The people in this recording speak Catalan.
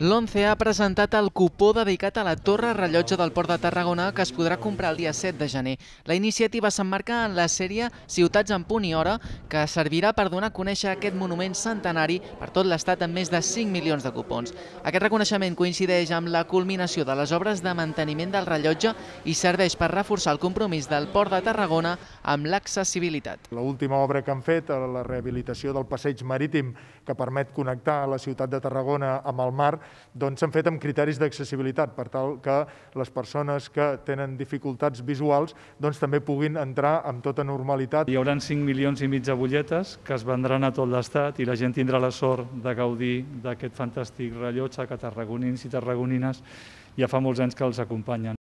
L'ONCE ha presentat el cupó dedicat a la Torre Rellotge del Port de Tarragona que es podrà comprar el dia 7 de gener. La iniciativa s'emmarca en la sèrie Ciutats en punt i hora, que servirà per donar a conèixer aquest monument centenari per tot l'Estat amb més de 5 milions de cupons. Aquest reconeixement coincideix amb la culminació de les obres de manteniment del rellotge i serveix per reforçar el compromís del Port de Tarragona amb l'accessibilitat. L'última obra que han fet, la rehabilitació del passeig marítim que permet connectar la ciutat de Tarragona amb el mar, doncs s'han fet amb criteris d'accessibilitat per tal que les persones que tenen dificultats visuals doncs també puguin entrar amb tota normalitat. Hi haurà 5,5 milions de butlletes que es vendran a tot l'Estat i la gent tindrà la sort de gaudir d'aquest fantàstic rellotge que tarragonins i tarragonines ja fa molts anys que els acompanyen.